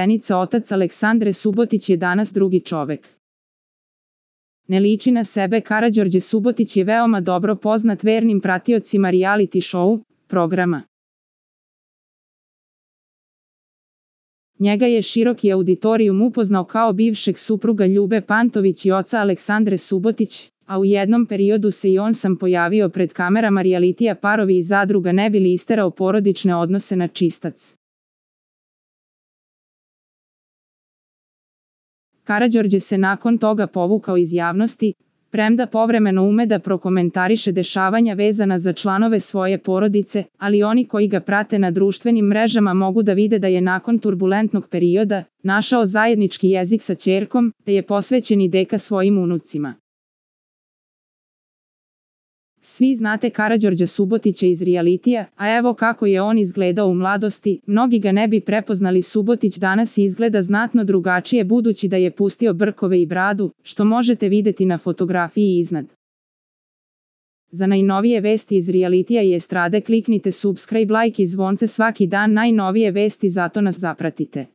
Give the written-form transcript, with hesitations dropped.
Zenica otac Aleksandre Subotić je danas drugi čovek. Ne liči na sebe. Karađorđe Subotić je veoma dobro poznat vernim pratiocima reality show programa. Njega je široki auditorijum upoznao kao bivšeg supruga Ljube Pantović i oca Aleksandre Subotić, a u jednom periodu se i on sam pojavio pred kamerama realitija Parovi iz zadruga ne bi li isterao porodične odnose na čistac. Karađorđe se nakon toga povukao iz javnosti, premda povremeno ume da prokomentariše dešavanja vezana za članove svoje porodice, ali oni koji ga prate na društvenim mrežama mogu da vide da je nakon turbulentnog perioda našao zajednički jezik sa ćerkom, te je posvećen i deka svojim unucima. Svi znate Karađorđa Subotića iz realitija, a evo kako je on izgledao u mladosti, mnogi ga ne bi prepoznali. Subotić danas izgleda znatno drugačije budući da je pustio brkove i bradu, što možete videti na fotografiji iznad. Za najnovije vesti iz realitija i estrade kliknite subscribe, like i zvonce svaki dan. Najnovije vesti, zato nas zapratite.